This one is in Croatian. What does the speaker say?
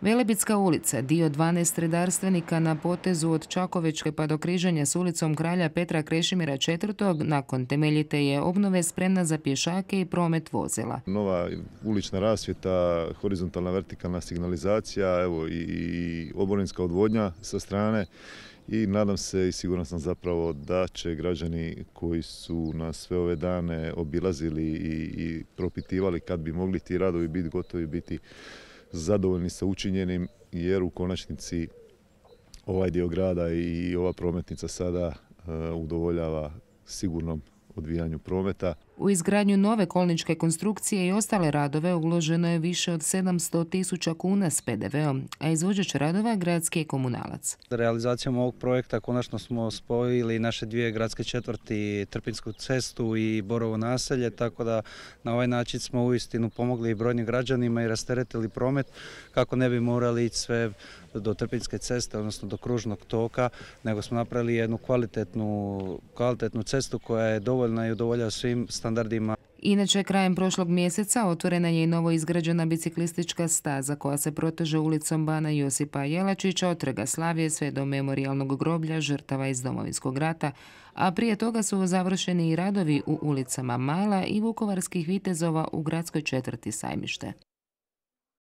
Velebitska ulica, dio 12 redarstvenika na potezu od Čakovečke pa do križanja s ulicom kralja Petra Krešimira IV. Nakon temeljite je obnove spremna za pješake i promet vozila. Nova ulična rasvjeta, horizontalna vertikalna signalizacija, evo i oborinska odvodnja sa strane. I nadam se i siguran sam zapravo da će građani koji su nas sve ove dane obilazili i propitivali kad bi mogli ti radovi biti gotovi, biti zadovoljni sa učinjenim, jer u konačnici ovaj dio grada i ova prometnica sada udovoljava sigurnom odvijanju prometa. U izgradnju nove kolničke konstrukcije i ostale radove uloženo je više od 700.000 kuna s PDV-om, a izvođač radova gradski je komunalac. Realizacijom ovog projekta konačno smo spojili naše dvije gradske četvrti, Trpinjsku cestu i Borovo naselje, tako da na ovaj način smo uistinu pomogli i brojnim građanima i rasteretili promet kako ne bi morali ići sve do Trpinjske ceste, odnosno do kružnog toka, nego smo napravili jednu kvalitetnu cestu koja je dovoljna i udovoljava svim standardima. Inače, krajem prošlog mjeseca otvorena je i novo izgrađena biciklistička staza koja se proteže ulicom Bana Josipa Jelačića od Trga Slavije sve do memorijalnog groblja žrtava iz Domovinskog rata, a prije toga su završeni i radovi u ulicama Mala i Vukovarskih vitezova u gradskoj četvrti Sajmište.